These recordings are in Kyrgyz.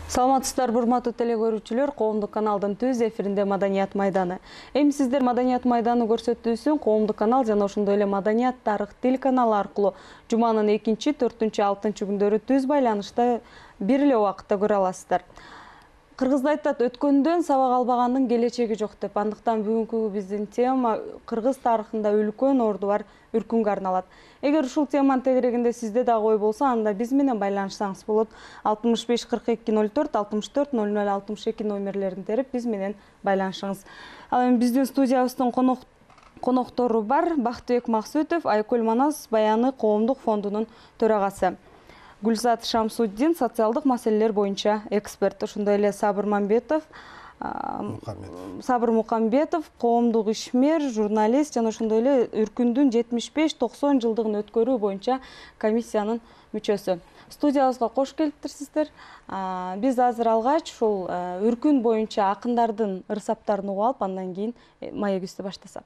Саламатсыздар, урматтуу теле көрүүчүлөр, коомдук каналдын түз эфиринде Маданият майданы. Эми сиздер Маданият майданы көрсөтүүсүн коомдук канал жана ошондой эле Маданият тарых тил каналы аркылуу жуманын 2, 4, 6 күндөрү түз байланышта бир эле убакытта көрө аласыздар. Кыргызда айтат, өткөндөн сабак албагандын келечеги жок деп. Андыктан бүгүнкү биздин тема кыргыз тарыхында үлкөн орду бар Үркүнгө арналат. Эгер ушул теманын тегерегинде сизде дагы ой болсо, анда биз менен байланышсаңыз болот. 65 42 04 64 00 62 номерлерин терип биз менен байланышыңыз. Ал эми биздин студиябыздын коноктору бар. Бактыбек Максутов, Айкөл Манас Баяны коомдук фондунун төрагасы. Гүлзат Шамсуддин, социалдык маселелер боюнча эксперт. Ошондой эле Сабыр Мукамбетов, коомдук ишмер, журналист жана ошондой эле Үркүндүн 75-90 жылдыгын өткөрүү боюнча комиссиянын мүчөсү. Студиябызга кош келиптирсиздер. Биз азыр алгач ушул Үркүн боюнча акындардын ырсаптарын угуп алып, андан кийин маегибизди баштасак.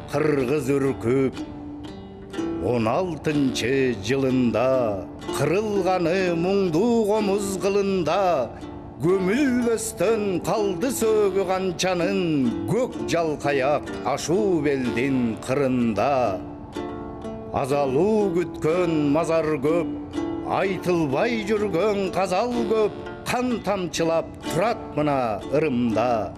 Кыргыз үркүп 16-жылында кырылганы муңдуу комуз кылында көмүлбөстөн калды сөөгү канчанын көк жалкаяк ашуу белдин кырында азалуу күткөн мазар көп айтылбай жүргөн казал көп кан тамчылап турат мына ырымда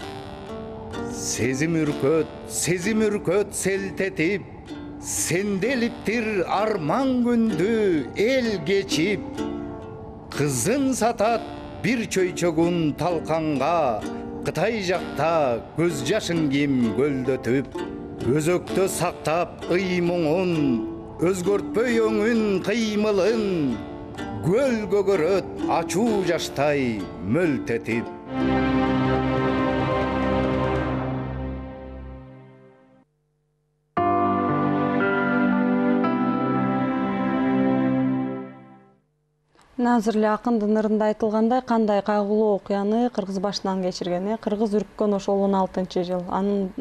сезим үркөт селтетип сенделиптир арман күндү эл кечип кызын сатат бир чөйчөгүн талканга Кытай жакта көз жашын ким көлдөтүп өзөктө сактап ыймуңун өзгөртпөй өңүн кыймылын көл көгөрөт ачуу жаштай мөлтетип. Азыр эле акындын ырында айтылгандай, кандай кайгылуу окуяны кыргыз башынан кечирген, кыргыз үрккөн ошол 16-жыл. Анын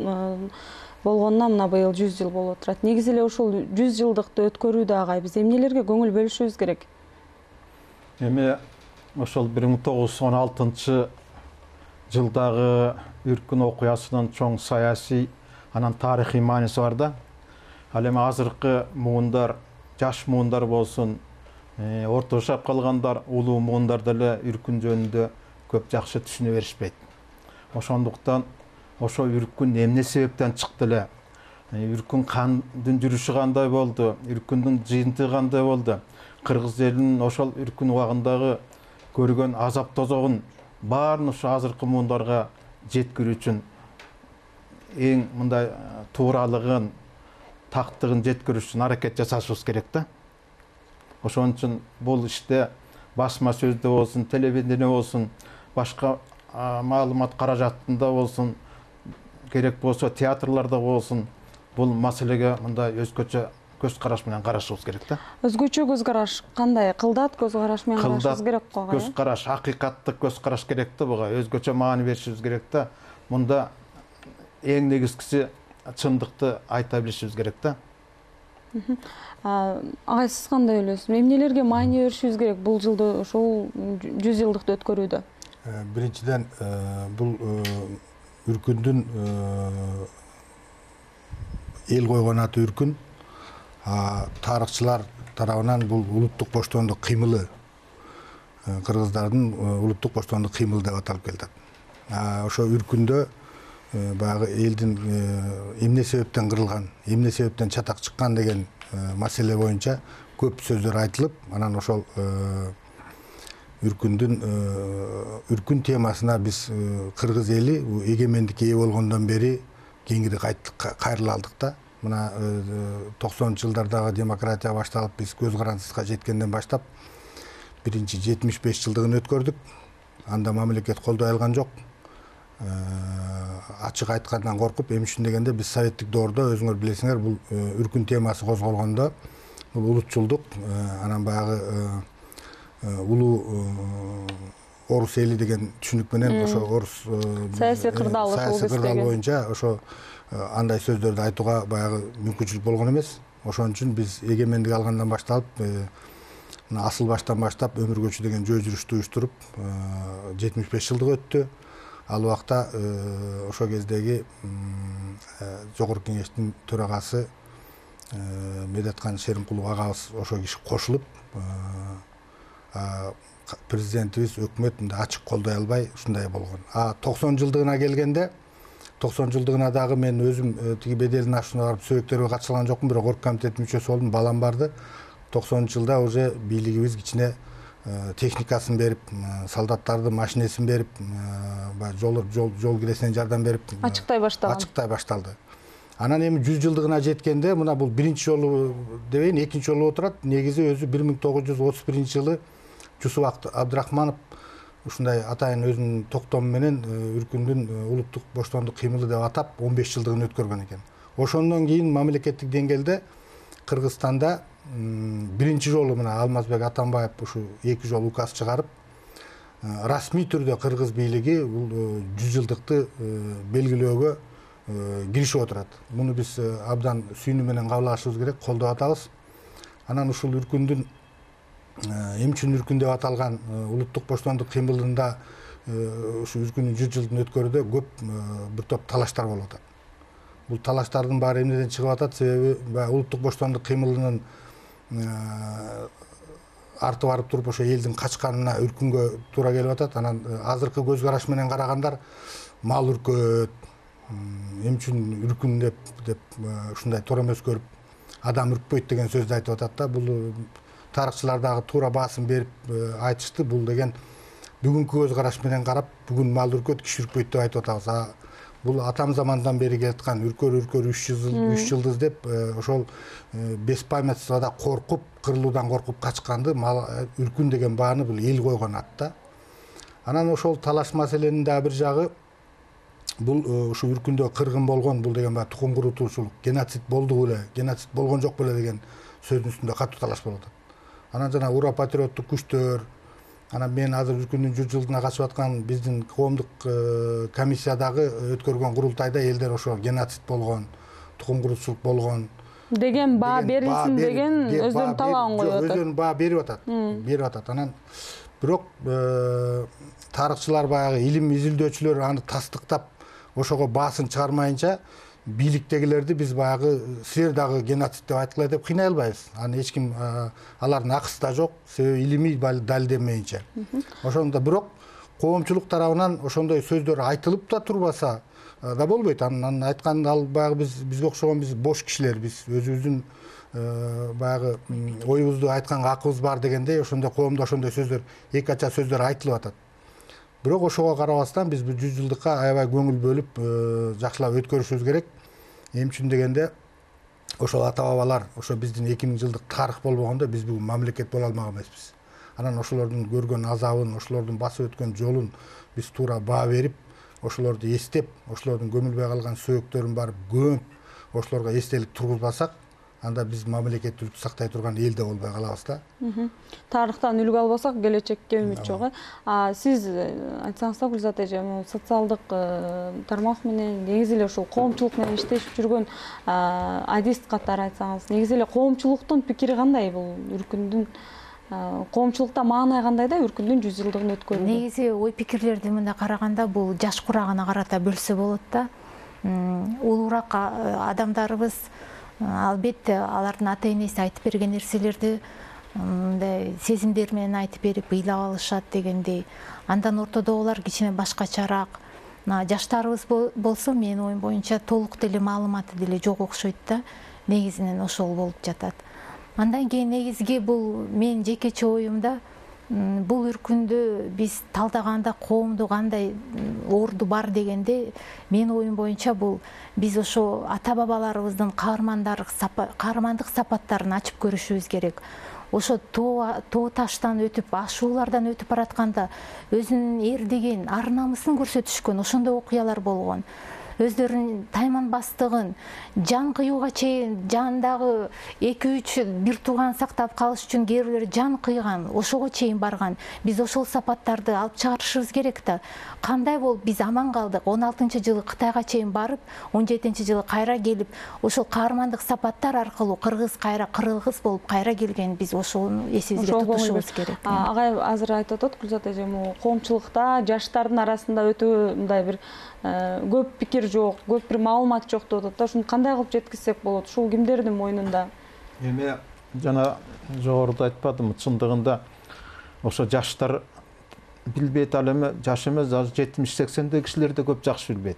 болгонуна мына быйыл 100 жыл болуп турат. Негизи эле ушул 100 жылдыкты өткөрүүдө агай биз эмнелерге көңүл бөлүшүбүз керек? Эми ошол 1916-жылдагы үркүн окуясынын чоң саясий, анан тарыхый мааниси бар да. Ал эми азыркы муундар, жаш муундар болсун, орто жашап калгандар, улуу муундар деле үркүн жөнүндө көп жакшы түшүнө беришпейт. Ошондуктан ошо үркүн эмне себептен чыкты эле? Үркүн кандын жүрүшү кандай болду? Үркүндүн жыйынтыгы кандай болду? Кыргыз элинин ошол үркүн убагындагы көргөн азап тозогун баарын ушу азыркы муундарга жеткирүү үчүн эң мындай тууралыгын, тактыгын жеткирүү үчүн аракет жасашыбыз керек да. Ошон үчүн бул иште басма сөздө болсун, телевидение болсун, башка маалымат каражатында болсун, керек болсо театрларда болсун, бул маселеге мындай өзгөчө көз караш менен карашыбыз керек да. Өзгөчө көз караш кандай? Кылдат көз караш менен карашыбыз керек го. Көз караш, акыйкаттык көз караш керек да буга. Өзгөчө маани беришибиз керек да. Мында эң негизгиси чындыкты айта билишибиз керек да. Агай, сиз кандай ойлойсуз? Эмнелерге маани беришибиз керек бул жылды ошол 100 жылдыкты өткөрүүдө? Биринчиден, бул үркүндүн эл койгон аты үркүн. Тарыхчылар тарабынан бул улуттук боштондук кыймылы, кыргыздардын улуттук боштондук кыймылы деп аталып келатат. Ошо үркүндө баягы элдин эмне себептен кырылган, эмне себептен чатак чыккан деген маселе боюнча көп сөздөр айтылып, анан ошол үркүн темасына биз кыргыз эли эгемендикке ээ болгондон бери кеңири кайрыла алдык да. Мына 90-жылдардагы демократия башталып, биз көз карандысызга жеткенден баштап биринчи 75 жылдыгын өткөрдүк. Анда мамлекет колдой алган жок. Ачык айткандан коркуп, эми үчүн дегенде биз советтик доордо өзүңөр билесиңер, бул үркүн темасы козголгондо бул улутчулдук, анан баягы улуу орус эли деген түшүнүк менен ошо орус саясий кырдаал боюнча ошо андай сөздөрдү айтууга баягы мүмкүнчүлүк болгон эмес. Ошон үчүн биз эгемендик алгандан башталып, асыл баштан баштап өмүргөчү деген жөө жүрүштү уюштуруп 75 жылдык өттү. Ал убакта ошо кездеги жогорку кеңештин төрагасы Медеткан Шеримкулов агабыз ошо киши кошулуп, президентибиз, өкмөт ачык колдой албай ушундай болгон. 90 жылдыгына келгенде, 90 жылдыгына дагы мен өзүм тиги беделдин ашуна барып сөбөктөргө катыша алган жокмун, бирок орг комитеттин мүчөсү болдум, балам барды. 90 жылда уже бийлигибиз кичине техникасын берип, солдаттарды машинесин берип, жол киресине жардам берип ачыктай башталды. Анан эми 100 жылдыгына жеткенде, мына бул биринчи жолу дебейин, экинчи жолу отурат. Негизи өзү 1931 жылы Жусуп Абдрахманов ушундай атайын өзүнүн токтому менен үркүндүн улуттук боштондук кыймылы деп атап 15 жылдыгын өткөргөн экен. Ошондон кийин мамлекеттик деңгээлде Кыргызстанда биринчи жолу мына Алмазбек Атамбаев ушу 2 жолу указ чыгарып, расмий түрдө кыргыз бийлиги бул 100 жылдыкты белгилөөгө киришип отурат. Муну биз абдан сүйүнүү менен кабыл алышыбыз керек, колдоп атабыз. Анан ушул үркүндүн эмне үчүн үркүн деп аталган улуттук боштондук кыймылында ушу үркүндүн 100 жылдын өткөрүүдө көп бир топ талаштар болуп атат. Бул талаштардын баары эмнеден чыгып атат? Себеби улуттук боштондук кыймылынын арты барып туруп ошо элдин качканына үркүнгө туура келип атат. Анан азыркы көз караш менен карагандар мал үркөт, эмне үчүн үркүн деп ушундай тор эмес көрүп, адам үркпөйт деген сөздү айтып атат да. Бул тарыхчылар дагы туура баасын берип айтышты. Бул деген бүгүнкү көз караш менен карап, бүгүн мал үркөт, киши үркпөйт деп айтып атабыз. Бул атам замандан бери келаткан үркөр 3 жылдыз деп ошол беспамятствода коркуп, кырылуудан коркуп качканды, үркүн деген бааны бул эл койгон ат да. Анан ошол талаш маселенин да бир жагы бул ушу үркүндө кыргын болгон, бул деген баягы тукум курутуучулук, геноцид болду беле, геноцид болгон жок беле деген сөздүн үстүндө катуу талаш болуп атат. Анан жана ура патриоттук күчтөр, анан мен азыр үркүндүн 100 жылдыгына катышып аткан биздин коомдук комиссиядагы өткөргөн курултайда элдер ошо геноцид болгон, тукум курутуучулук болгон деген баа берилсин деген өздөрүнүн талабын коюп атат. Өздөрүнүн баа берип атат. Анан бирок тарыхчылар баягы илим изилдөөчүлөр аны тастыктап ошого баасын чыгармайынча бийликтегилерди биз баягы силер дагы геноцид деп айткыла деп кыйнай албайбыз. Аны эч ким алардын акысы да жок, себеби илимий далилденмейинче. Ошондо бирок коомчулук тарабынан ошондой сөздөр айтылып да турбаса да болбойт. Анын айткан ал баягы бизге окшогон биз бош кишилер, биз өзүбүздүн баягы оюбузду айтканга акыбыз бар дегендей ошондой коомдо ошондой сөздөр эки ача сөздөр айтылып атат. Бирок ошого карабастан биз бул 100 жылдыкка аябай көңүл бөлүп жакшылап өткөрүшүбүз керек. Эмне үчүн дегенде ошол ата бабалар, ошо биздин 2000 жылдык тарых болбогондо биз бүгүн мамлекет боло алмак эмеспиз. Анан ошолордун көргөн азабын, ошолордун басып өткөн жолун биз туура баа берип, ошолорду эстеп, ошолордун көмүлбөй калган сөөктөрүн барып көмүп, ошолорго эстелик тургузбасак, анда биз мамлекеттүүлүктү сактай турган эл да болбой калабыз да. Тарыхтан үлгү албасак, келечекке үмүт жок. Сиз айтсаңыз да, Гүлзат эже, социалдык тармак менен негизи эле ушул коомчулук менен иштешип жүргөн адист катары айтсаңыз, негизи эле коомчулуктун пикири кандай бул үркүндүн коомчулукта маанай кандай да үркүндүн 100 жылдыгын өткөрүүдө? Негизи ой пикирлерди мындай караганда бул жаш курагына карата бөлсө болот да. Улуураак адамдарыбыз албетте алардын ата энеси айтып берген нерселерди мындай сезимдер менен айтып берип ыйлап алышат дегендей. Андан ортодогулар кичине башкачараак. Жаштарыбыз болсо менин оюм боюнча толук деле маалыматы деле жок окшойт да. Негизинен ошол болуп жатат. Андан кийин негизги бул менин жекече оюмда бул үркүндү биз талдаганда коомду кандай орду бар дегенде менин оюм боюнча бул биз ошо ата бабаларыбыздын каармандык сапаттарын ачып көрүшүбүз керек. Ошо тоо таштан өтүп, ашуулардан өтүп баратканда өзүнүн эрдигин, ар намысын көрсөтүшкөн ошондой окуялар болгон. Өздөрүнүн тайманбастыгын, жан кыюуга чейин жандагы 2-3 бир тууган сактап калыш үчүн кээ бирлер жан кыйган, ошого чейин барган. Биз ошол сапаттарды алып чыгарышыбыз керек да. Кандай болуп биз аман калдык? 16-жылы Кытайга чейин барып, 17-жылы кайра келип, ошол каармандык сапаттар аркылуу кыргыз кайра кыргыз болуп кайра келген, биз ошону эсибизге тутушубуз керек. Агай азыр айтып атат Гүлзат эже, коомчулукта жаштардын арасында өтө мындай бир көп пикир жок, көп бир маалымат жок деп атат да. Ушуну кандай кылып жеткизсек болот? Ушул кимдердин мойнунда? Эми жана жогоруда айтпадымбы, чындыгында ошо жаштар билбейт, ал эми жаш эмес, 70-80 кишилер да көп жакшы билбейт.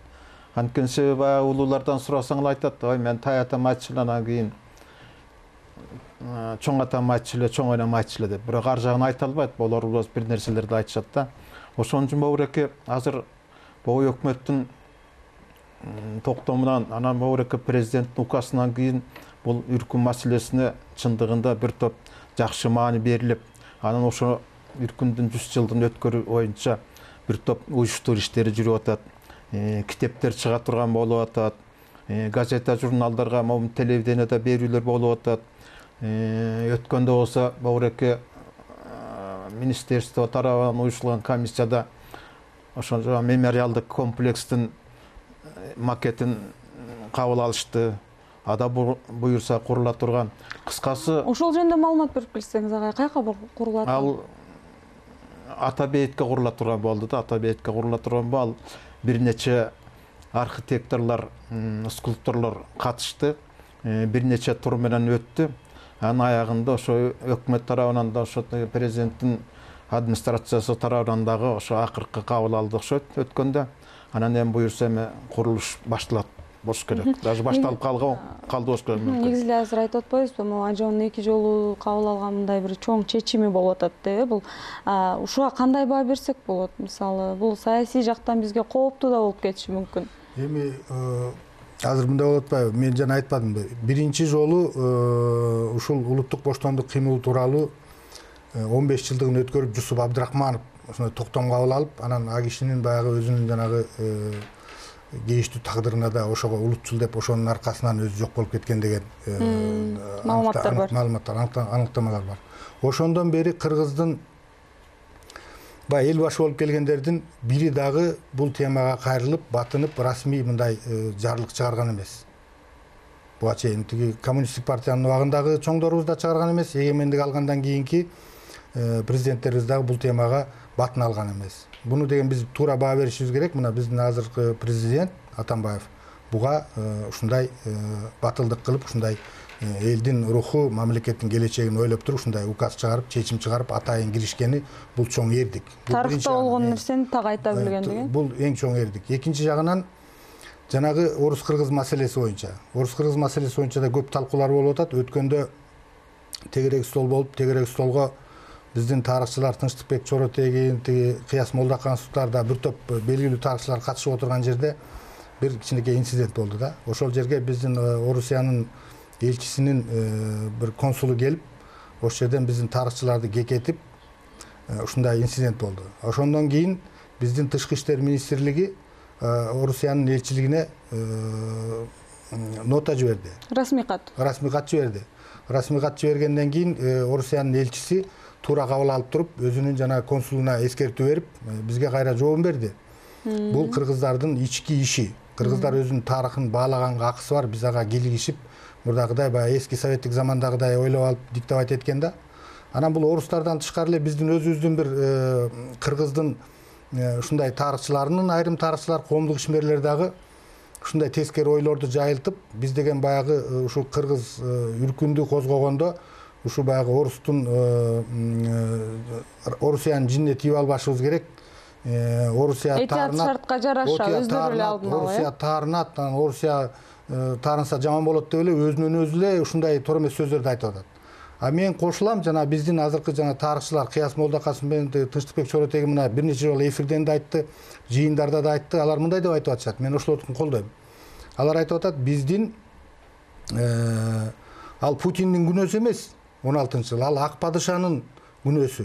Анткени себеби баягы улуулардан сурасаң эле айтат, ой мен тай атам айтчу эле, анан кийин чоң атам айтчу эле, чоң энем айтчу эле деп. Бирок ар жагын айта албайт, болор болбос бир нерселерди айтышат да. Ошон үчүн Бобуреке азыр бул өкмөттүн токтомунан, анан Бобуреке президенттин указынан кийин бул үркүн маселесине чындыгында бир топ жакшы маани берилип, анан ошо үркүндүн 100 жылдын өткөрүү боюнча бир топ уюштуруу иштери жүрүп атат. Китептер чыга турган болуп атат. Газета, журналдарга, телевидениеде берүүлөр болуп атат. Өткөндө болсо Бобуреке министерство тарабынан уюштурулган комиссияда ошо мемориалдык комплекстин макетин кабыл алышты. Ада буюрса курула турган. Кыскасы, ошол жөнүндө маалымат берип келсеңиз, агай, кайка курулат? Ал Ата бейитке курула турган болду да. Ата бейитке курула турган бул, ал бир нече архитекторлор, скульпторлор катышты. Бир нече тур менен өттү. Анын аягында ошо өкмөт тарабынан да, ошо президенттин администрациясы тарабынан дагы ошо акыркы кабыл алды окшойт өткөндө. Анан эми буюрса эми курулуш башталат болуш керек. Даже башталып калды болуш керек. Негизи эле азыр айтып атпайбызбы, Ажоонун 2 жолу кабыл алган мындай бир чоң чечими болуп атат деп. Бул ушуга кандай баа берсек болот? Мисалы, бул саясий жактан бизге кооптуу да болуп кетиши мүмкүн. Эми азыр мындай болуп атпайбы? Мен жана айтпадымбы? Биринчи жолу ушул улуттук боштондук кыймылы тууралуу 15 жылдыгын өткөрүп Жусуп Абдрахманов ошондой токтом кабыл алып, анан а кишинин баягы өзүнүн жанагы кейиштүү тагдырына да ошого улутчул деп ошонун аркасынан өзү жок болуп кеткен деген маалыматтар бар. Аныктамалар бар. Ошондон бери кыргыздын баягы эл башы болуп келгендердин бири дагы бул темага кайрылып, батынып, расмий мындай жарлык чыгарган эмес. Буга чейин тиги коммунисттик партиянын убагындагы чоңдорубуз да чыгарган эмес, эгемендик алгандан кийинки президенттерибиз дагы бул темага батын алган эмес. Буну деген биз туура баа беришибиз керек. Мына биздин азыркы президент Атамбаев буга ушундай батылдык кылып, ушундай элдин руху, мамлекеттин келечегин ойлоп туруп ушундай указ чыгарып, чечим чыгарып атайын киришкени бул чоң эрдик. Тарыхта болгон нерсени так айта билгендиги. Бул эң чоң эрдик. Экинчи жагынан жанагы орус-кыргыз маселеси боюнча. Орус-кыргыз маселеси боюнча да көп талкуулар болуп атат. Өткөндө тегерек стол болуп, тегерек столго биздин тарыхчылар Тынчтыкбек Чоротегин, Кыяс Молдокановдор бир топ белгилүү тарыхчылар катышып отурган жерде бир кичинекей инцидент болду да. Ошол жерге биздин Орусиянын элчисинин бир консулу келип, ошол жерден биздин тарыхчыларды кекетип, ушундай инцидент болду. Ошондон кийин биздин Тышкы иштер министрлиги Орусиянын элчилигине нота жиберди. Расмий кат жиберди. Расмий кат жибергенден кийин Орусиянын элчиси туура кабыл алып туруп, өзүнүн жана консулуна эскертүү берип, бизге кайра жообун берди. Бул кыргыздардын ички иши. Кыргыздар өзүнүн тарыхын баалаганга акысы бар, биз ага килигишип, мурдагыдай баягы эски советтик замандагыдай ойлоп алып диктовать эткен да. Анан бул орустардан тышкары эле биздин өзүбүздүн бир кыргыздын ушундай тарыхчыларынын, айрым тарыхчылар, коомдук ишмерлер дагы ушундай тескери ойлорду жайылтып, биз деген баягы ушу кыргыз үркүндү козгогондо ушу баягы Орусиянын жинине тийип албашыбыз керек. Орусия таарынат, шартка жараша өздөрү эле алдын ала. Орусия таарынат, Орусия таарынса жаман болот деп эле өзүнөн өзү эле ушундай туура эмес сөздөрдү айтып атат. А мен кошулам, жана биздин азыркы жана тарыхчылар Кыяс Молдокановдун менен Тынчтыкбек Чоротегин мына бир нече жолу эфирден да айтты, жыйындарда да айтты. Алар мындай деп айтып атышат. Мен ошолордун колдойм. Алар айтып атат, биздин ал Путиндин күнөөсү эмес, 16-жыл, ал ак падышанын күнөөсү.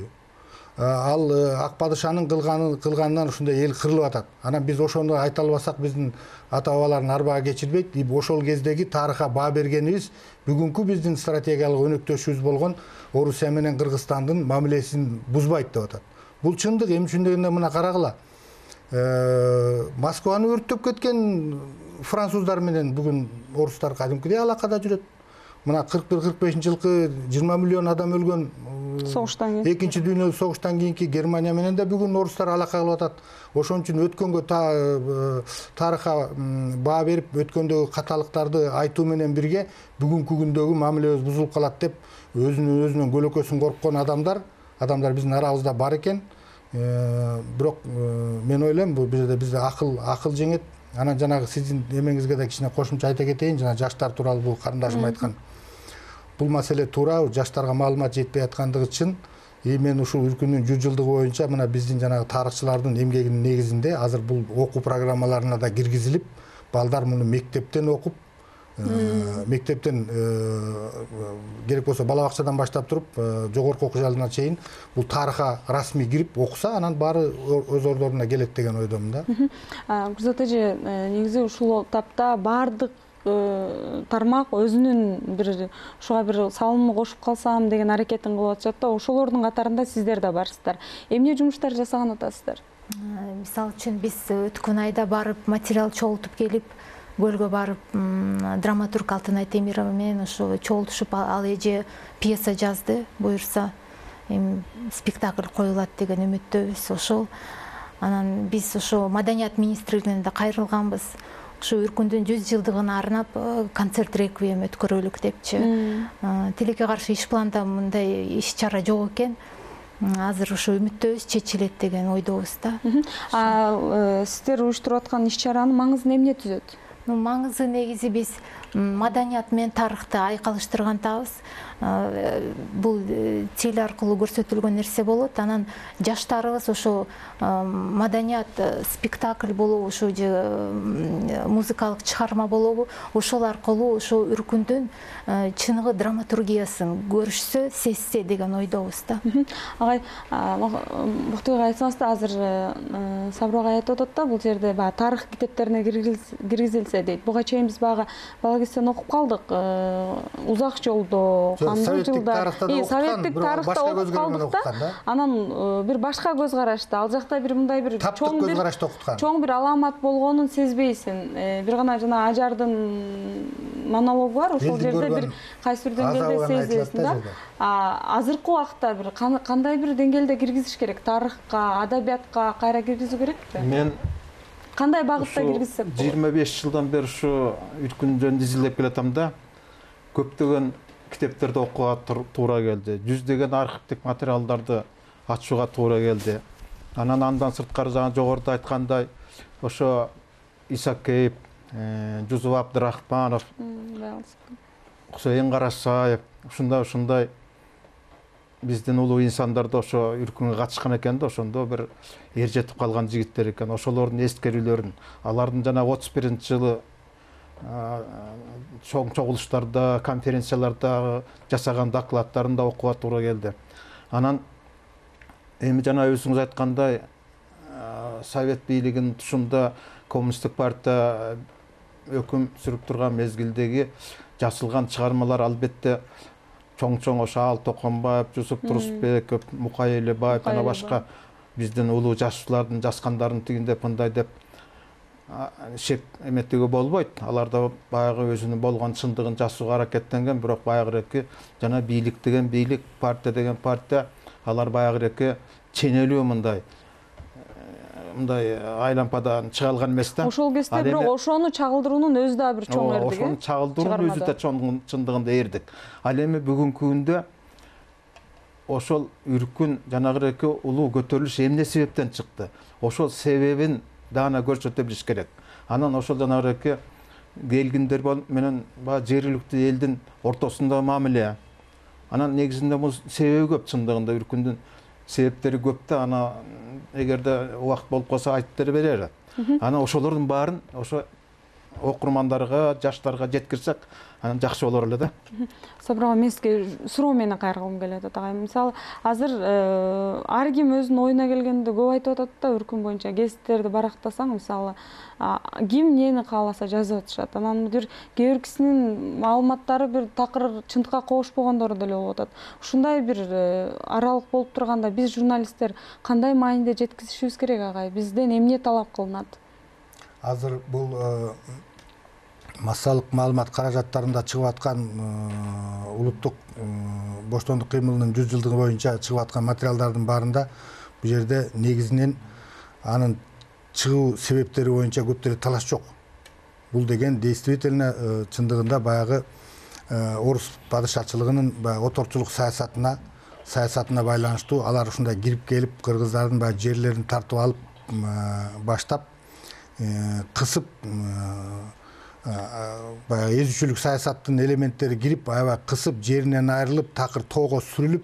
Ал ак падышанын кылганынан ушундай эл кырылып атат. Анан биз ошону айта албасак, биздин ата бабаларын арбага кечирбейт. Ошол кездеги тарыхка баа бергенибиз бүгүнкү биздин стратегиялык өнөктөшүбүз болгон Орусия менен Кыргызстандын мамилесин бузбайт деп атат. Бул чындык. Эмне үчүн дегенде мына карагыла. Москваны өрттөп кеткен француздар менен бүгүн орустар кадимкидей алакада жүрөт. Мына 41-45 жылкы 20 миллион адам өлгөн согуштан кийин, экинчи дүйнөлүк согуштан кийинки Германия менен да бүгүн орустар алака кылып атат. Ошон үчүн өткөнгө тарыхка баа берип, өткөндөгү каталыктарды айтуу менен бирге бүгүнкү күндөгү мамилебиз бузулуп калат деп өзүнүн көлөкөсүн корккон адамдар биздин арабызда бар экен. Бирок мен ойлойм, бул бизде акыл жеңет. Анан жанагы сиздин эмеңизге да кичине кошумча айта кетейин, жана жаштар тууралуу бул карындашым айткан. Бул маселе туура, жаштарга маалымат жетпей аткандыгы үчүн мен ушул үркүндүн 100 жылдыгы боюнча мына биздин жанагы тарыхчылардын эмгегинин негизинде азыр бул окуу программаларына да киргизилип, балдар муну мектептен окуп, мектептен керек болсо бала бакчадан баштап туруп жогорку окуу жалына чейин бул тарыхка расмий кирип окуса, анан баары өз ордоруна келет деген ойдомун да. Гүлзат эже, негизи ушул тапта баардык тармак өзүнүн бир ушуга бир салымын кошуп калсам деген аракетин кылып атышат да, ошолордун катарында сиздер да барсыздар. Эмне жумуштар жасаган атасыздар? Мисалы үчүн биз өткөн айда барып материал чогултуп келип, көлгө барып, драматург Алтынай Темирова менен ошо чогултушуп, ал эже пьеса жазды, буюрса спектакль коюлат деген үмүттөбүз. Ошол анан биз ошо Маданият министрлигине да кайрылганбыз. Ошо үркүндүн 100 жылдыгына арнап концерт реквием өткөрөлүк депчи. Тилекке каршы иш планда мындай иш чара жок экен. Азыр ошо үмүттөбүз, чечилет деген ойдобуз да. Сиздер уюштуруп аткан иш чаранын маңызын эмне түзөт? Маңызы негизи биз маданият менен тарыхты айкалыштыргандабыз. Бул теле аркылуу көрсөтүлгөн нерсе болот. Анан жаштарыбыз ошо маданият спектакль болобу, ошо же музыкалык чыгарма болобу, ошол аркылуу ошо үркүндүн чыныгы драматургиясын көрүшсө, сезсе деген ойдобуз да. Агай, Буктуй айтсаңыз да, азыр Сабыр агай айтып атат да, бул жерде баягы тарых китептерине киргизилсе дейт. Буга чейин биз баягы бала кезден окуп калдык. Узак жолдо, кандай жылда советтик тарыхта окуп калдык да. Анан бир башка көз карашта, ал жакта бир мындай бир чоң бир аламат болгонун сезбейсиң. Бир гана жана Ажардын монологу бар, ошол жерде бир кайсы бир деңгээлде сезесиң да. Азыркы убакта бир кандай бир деңгээлде киргизиш керек? Тарыхка, адабиятка кайра киргизүү керекпи? Мен Кандай багытта киргизсек болот? 25 жылдан бери ушу үркүн жөнүндө изилдеп келатам да. Көптөгөн китептерди окууга туура келди. Жүздөгөн архивдик материалдарды ачууга туура келди. Андан сырткары жана жогоруда айткандай ошо Исакеев, Жусуп Абдрахманов, Кусейин Карасаев ушундай биздин улуу инсандарды ошо үркүнгө катышкан экен да, ошондо бир эр жетип калган жигиттер экен. Ошолордун эскерүүлөрүн, алардын жана 31-жылы чоң чогулуштарда, конференцияларда жасаган докладдарын да окууга туура келди. Анан эми жана өзүңүз айткандай Совет бийлигинин тушунда Коммунисттик партия өкүм сүрүп турган мезгилдеги жазылган чыгармалар албетте чоң ошо Ал Токонбаев, Жусуп Турусбеков, Мукай Элебаев жана башка биздин улуу жазуучулардын жазгандарын тигиндеп мындай деп шек эметүүгө болбойт. Алар да баягы өзүнүн болгон чындыгын жазууга аракеттенген, бирок баягыреки жана бийлик деген бийлик, партия деген партия, алар баягыреки ченелүү мындай айлампадан чыга алган эмес да. Ошол кезде бирок ошону чагылдыруунун өзү да бир чоң эрдик. Ошону чагылдыруунун өзү да чоң чындыгында эрдик. Ал эми бүгүнкү күндө ошол үркүн жанагыреки улуу көтөрүлүш эмне себептен чыкты? Ошол себебин дагы көрсөтө билиш керек. Анан ошол жанагыреки келгиндер менен жергиликтүү элдин ортосундагы мамиле. Анан негизинде бул себеби көп, чындыгында үркүндүн себептери көп да, ана эгерде убакыт болуп калса айтып берер. Анан ошолордун баарын ошо окурмандарга, жаштарга жеткирсек, анан жакшы болор эле да. Сабыр ага, мен сизге суроо менен кайрылгым келет атагай. Мисалы, азыр ар ким өзүнүн оюна келгенде көп айтып атат да, үркүн боюнча гезиттерди барактасаң, мисалы, ким эмнени кааласа жазып атышат. Анан бир кээ бир кисинин маалыматтары бир такыр чындыкка кошпогондору деле болуп атат. Ушундай бир аралык болуп турганда биз журналисттер кандай мааниде жеткизишибиз керек агай? Бизден эмне талап кылынат? Азыр бул массалык маалымат каражаттарында чыгып аткан улуттук боштондук кыймылынын 100 жылдыгы боюнча чыгып аткан материалдардын баарында бул жерде негизинен анын чыгуу себептери боюнча көптөр талаш жок. Бул деген действительно чындыгында баягы орус падышачылыгынын оторчулук саясатына байланыштуу, алар ушундай кирип келип кыргыздардын баягы жерлерин тартып алып баштап кысып баягы эзүүчүлүк саясаттын элементтери кирип аябай кысып жеринен айрылып такыр тоого сүрүлүп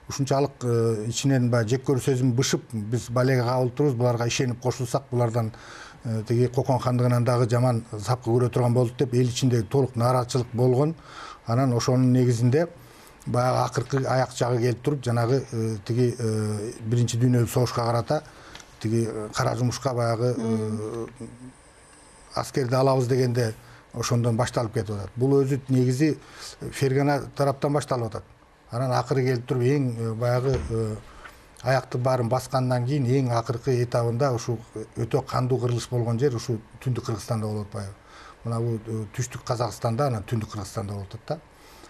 ушунчалык ичинен баягы жек көрүү сезими бышып биз балеге кабыл турубуз, буларга ишенип кошулсак булардан тиги Кокон хандыгынан дагы жаман сапкы көрө турган болдук деп эл ичинде толук нааразычылык болгон. Анан ошонун негизинде баягы акыркы аяк жагы келип туруп жанагы тиги биринчи дүйнөлүк согушка карата тиги кара жумушка баягы аскерди алабыз дегенде ошондон башталып кетип атат. Бул өзү негизи Фергана тараптан башталып атат. Анан акыры келип туруп эң баягы аякты баарын баскандан кийин эң акыркы этабында ушу өтө кандуу кырылыш болгон жер ушу Түндүк Кыргызстанда болуп атпайбы? Мына бул түштүк Казакстанда, анан Түндүк Кыргызстанда болуп атат да.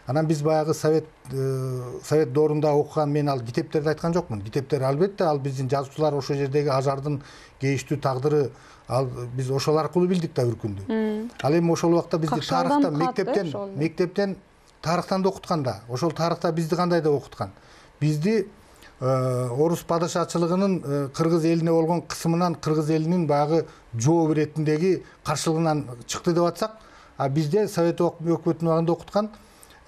Анан биз баягы совет доорунда окуган, мен ал китептерди айткан жокмун. Китептер албетте ал биздин жазуучулар ошол жердеги ажардын кейиштүү тагдыры, ал биз ошол аркылуу билдик да үркүндү. Ал эми ошол убакта бизди тарыхта мектептен тарыхтан да окуткан да. Ошол тарыхта бизди кандай деп окуткан? Бизди орус падышачылыгынын кыргыз элине болгон кысымынан кыргыз элинин баягы жооп иретиндеги каршылыгынан чыкты деп атсак, а бизде совет өкмөтүнүн убагында окуткан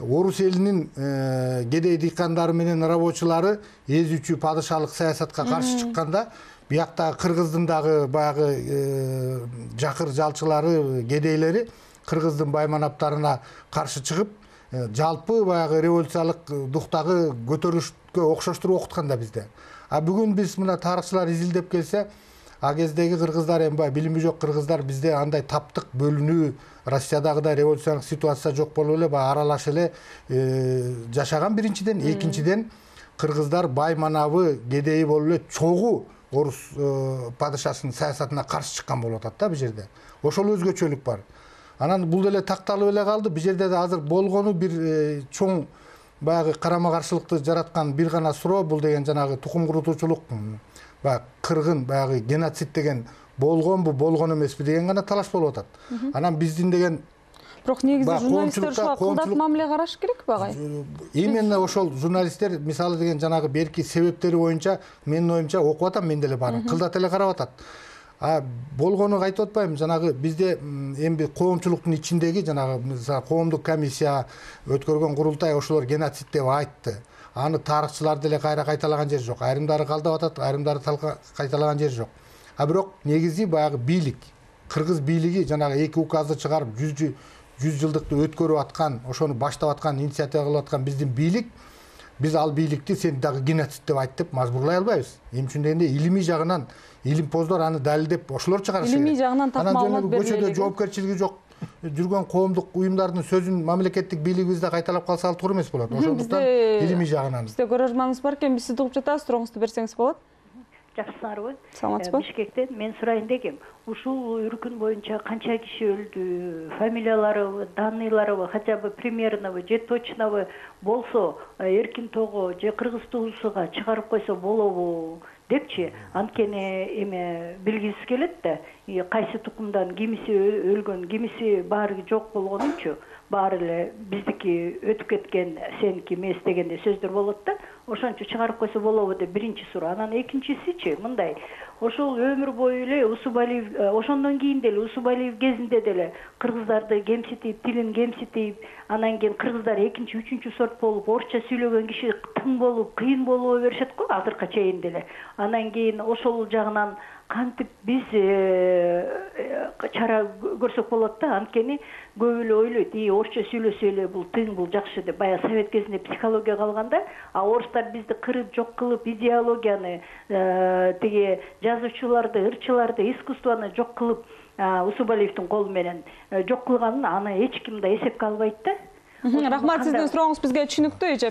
орус элинин кедей дыйкандары менен рабочулары эзүүчү падышалык саясатка каршы чыкканда, бияктагы кыргыздын дагы баягы жакыр жалчылары, кедейлери кыргыздын байманаптарына каршы чыгып, жалпы баягы революциялык дуктагы көтөрүлүшкө окшоштуруп окуткан да бизде. А бүгүн биз мына тарыхчылар изилдеп келсе, а кездеги кыргыздар эми баягы билими жок кыргыздар бизде андай таптык бөлүнүү, Россиядагыдай революциялык ситуация жок болуп эле баягы аралаш эле жашаган биринчиден, экинчиден кыргыздар байманабы, кедейи болуп эле чогуу орус падышасынын саясатына каршы чыккан болуп атат да бул жерде. Ошол өзгөчөлүк бар. Анан бул деле такталып эле калды. Бул жерде да азыр болгону бир чоң баягы карама каршылыкты жараткан бир гана суроо, бул деген жанагы тукум курутуучулук, баягы кыргын, баягы геноцид деген болгонбу болгон эмеспи деген гана талаш болуп атат. Анан биздин деген Бирок негизи Баягы журналисттер ушуга кылдат коомчулук- мамиле караш керекпи агай? именно ошол журналисттер мисалы деген жанагы берки себептери боюнча менин оюмча окуп атам мен деле баарын кылдат эле карап атат. Болгону айтып атпайбы, жанагы бизде эми коомчулуктун ичиндеги жанагы мисалы коомдук комиссия өткөргөн курултай ошолор геноцид деп айтты. Аны тарыхчылар деле кайра кайталаган жери жок. Айрымдары калдап атат, айрымдары кайталаган жери жок. Бирок негизи баягы бийлик, кыргыз бийлиги жанагы 2 указды чыгарып 100 жылдыкты өткөрүп аткан, ошону баштап аткан, инициатива кылып аткан биздин бийлик, биз ал бийликти сен дагы геноцид деп айт деп мажбурлай албайбыз. Эмне үчүн дегенде илимий жагынан илимпоздор аны далилдеп ошолор чыгарышы керек. Илимий жагынан так маалымат бериле Көчөдө элек. жоопкерчилиги жок жүргөн коомдук уюмдардын сөзүн мамлекеттик бийлигибизде кайталап калса ал туура эмес болот. Ошондуктан илимий жагынан. Бизде көрөрманыбыз бар экен, биз сизди угуп жатабыз, сурооңузду берсеңиз болот. Жакшысыңарбы? Саламатсызбы? Бишкектен мен сурайын дегем. Ушул үркүн боюнча канча киши өлдү, фамилиялары, данныйлары, хотя бы примерно же точно болсо, эркин того же Кыргыз туусуга чыгарып койсо болобу депчи, анткени эме билгибиз келет да, кайсы тукумдан кимиси өлгөн, кимиси баары жок болгонунчу, баары эле биздики өтүп кеткен, сеники эмес дегенде сөздөр болот да. Ошончо чыгарып койсо болобу деп биринчи суроо. Анан экинчисичи мындай. Ошол өмүр бою эле Усубалиев, ошондон кийин деле Усубалиев кезинде деле кыргыздарды кемситип, тилин кемситип, анан кийин кыргыздар экинчи, үчүнчү сорт болуп, орусча сүйлөгөн киши тың болуп, кыйын болуп беришет го азыркыга чейин деле. Анан кийин ошол жагынан кантип биз чара көрсөк болот да, анткени көп эле ойлойт, орусча сүйлөсө эле бул тың, бул жакшы деп. Баягы совет кезинде психология калганда, орустар бизди кырып жок кылып, идеологияны, тиги жазуучуларды, ырчыларды, искусствону жок кылып, Усубалиевдин колу менен жок кылганын аны эч ким да эсепке албайт да. Рахмат, сиздин сурооңуз бизге түшүнүктүү, эже.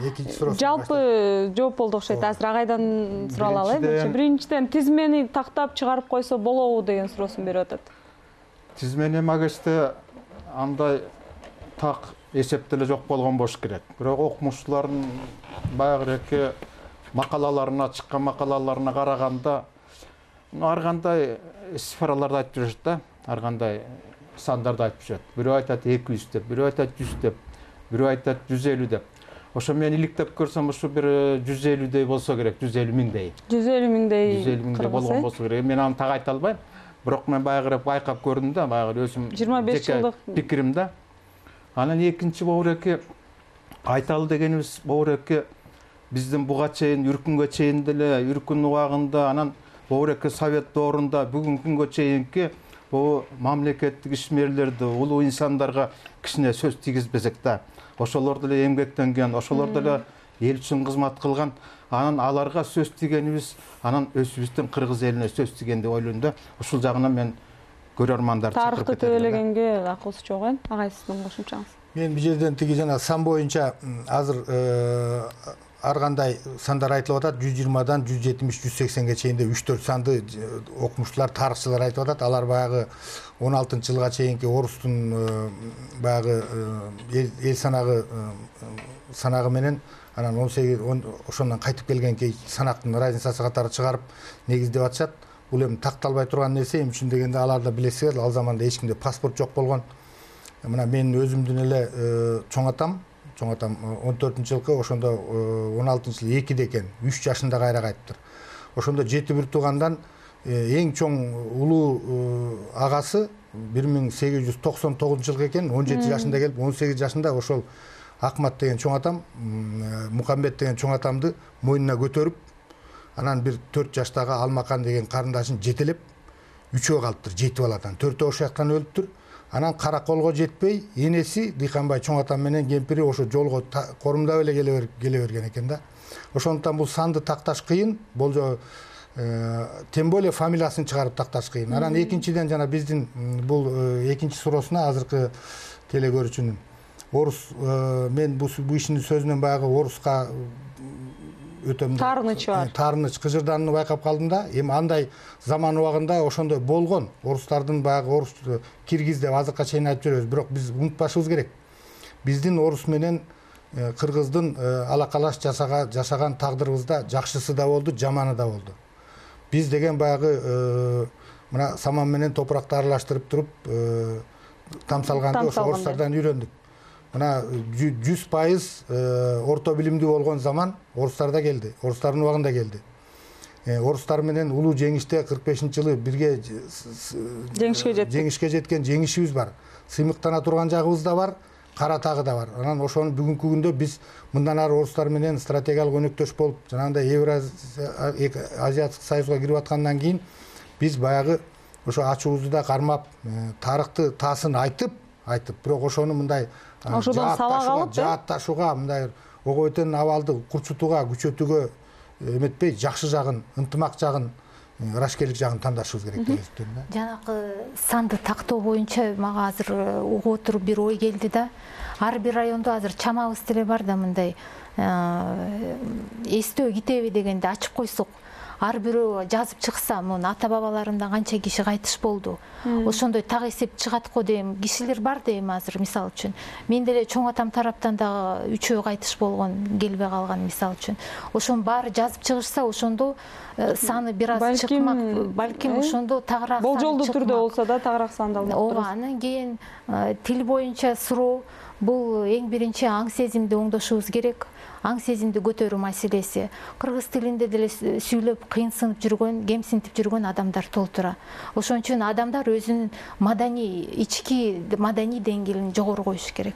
Экинчи суроо. Жалпы жооп болду окшойт. Азыр агайдан сурап алалы. Биринчиден тизмени тактап чыгарып койсо болобу деген суроосун берип атат. Тизмени магисте андай так эсепте эле жок болгон болуш керек. Бирок окумуштуулардын баягы макалаларына, чыккан макалаларына караганда ар кандай цифраларды айтып жүрүшөт да, ар кандай сандарды айтып жүрөт. Бирөө айтат 200 деп, бирөө айтат 100 деп, бирөө айтат 150 деп. Ошо мен иликтеп көрсөм ушу бир 150дей болсо керек, 150 миңдей. 150 миңдей. 150 миңдей болгон болсо керек. Мен аны так айта албайм. Бирок мен баягы байкап көрдүм да, баягы өзүм 25 жылдык пикирим да. Анан экинчи бобуреке айталы дегенибиз бобуреке биздин буга чейин үркүнгө чейин деле үркүн убагында анан бобуреке совет доорунда бүгүнкү күнгө чейинки бул мамлекеттик ишмерлерди, улуу инсандарга кичине сөз тийгизбесек да, ошолор деле эмгектенген, ошолор деле эл үчүн кызмат кылган, анан аларга сөз тийгенибиз, анан өзүбүздүн кыргыз элине сөз тийген деп ойлойм да. Ушул жагынан мен көрөрмандарды чакырып тарыхты төөлөгенге акылсы жок экен. Агай, сиздин кошумчаңыз. Мен бул жерден тиги жана сан боюнча азыр ар кандай сандар айтылып атат, 120дан 170, 180ге чейинде 3-4 санды окумуштуулар, тарыхчылар айтып атат. Алар баягы 16-жылга чейинки орустун баягы эл санагы менен анан 18 ошондон кайтып келген кей санактын разницасы катары чыгарып негиздеп атышат. Бул эми такталбай турган нерсе, эмне үчүн дегенде алар да билесиздер, ал заманда эч кимде паспорт жок болгон. Мына мен өзүмдүн эле чоң атам 14-жылкы ошондо 16-жылы 2-де экен, 3 жашында кайра кайтыптыр. Ошондо жети бир туугандан эң чоң улуу агасы 1899-жылкы экен, 17 жашында келип, 18 жашында ошол Акмат деген чоң атам, Мукамбет деген чоң атамды мойнуна көтөрүп, анан бир 4 жаштагы Алмакан деген карындашын жетелеп, 3-өө калыптыр, 7 баладан, 4-өө ошол жактан өлүптүр. Анан караколго жетпей, энеси Дыйканбай чоң атам менен кемпири ошо жолго корумдап эле келе берген экен да. Ошондуктан бул санды такташ кыйын, болжо тем более фамилиясын чыгарып такташ кыйын. Анан экинчиден жана биздин бул экинчи суроосуна азыркы телекөрүүчүнүн орус, мен бул ишинин сөзүнөн баягы оруска өтө таарыныч бар. Таарыныч кыжырданууну байкап калдым да. Эми андай заман убагында ошондой болгон. Орустардын баягы орус киргиз деп азыркыга чейин айтып жүрөбүз, бирок биз унутпашыбыз керек. Биздин орус менен кыргыздын алакалаш жашаган тагдырыбызда жакшысы да болду, жаманы да болду. Биз деген баягы мына саман менен топуракты аралаштырып туруп там салганды ошо орустардан үйрөндүк. Мына 100% орто билимдүү болгон заман орустарда келди, орустардын убагында келди. Орустар менен улуу жеңиште 45-жылы бирге жеңишке жеткен жеңишибиз бар. Сыймыктана турган жагыбыз да бар, кара тагы да бар. Анан ошону бүгүнкү күндө биз мындан ары орустар менен стратегиялык өнөктөш болуп, жанагындай Евразиялык союзга кирип аткандан кийин биз баягы ошо ачуубузду да кармап, тарыхты таасын айтып, бирок ошону мындай ошодон сабак алып, жаатташууга, мындай ого бетен абалды курчутууга, күчөтүүгө эметпей, жакшы жагын, ынтымак жагын, ырашкерлик жагын тандашыбыз керек деп эсептейм да. Жанагы санды тактоо боюнча мага азыр угуп отуруп бир ой келди да. Ар бир райондо азыр чамабыз деле бар да, мындай эстөө китеби дегенди ачып койсок, ар бирөө жазып чыкса, мунун ата бабаларымдан канча киши кайтыш болду. Ошондой так эсеп чыгат го дейм. Кишилер бар дейм азыр, мисалы үчүн. Мен деле чоң атам тараптан дагы 3 кайтыш болгон, келбей калган, мисалы үчүн. Ошонун баары жазып чыгышса, ошондо саны бир аз чыкмак, балким ошондо тагыраак болжолдуу түрдө болсо да тагыраак сандалып турат. Ооба, анан кийин тил боюнча суроо, бул эң биринчи аң сезимди оңдошубуз керек. Аң сезимди көтөрүү маселеси. Кыргыз тилинде деле сүйлөп кыйынсынып жүргөн, кемсинтип жүргөн адамдар толтура. Ошон үчүн адамдар өзүнүн ички маданий деңгээлин жогору коюш керек.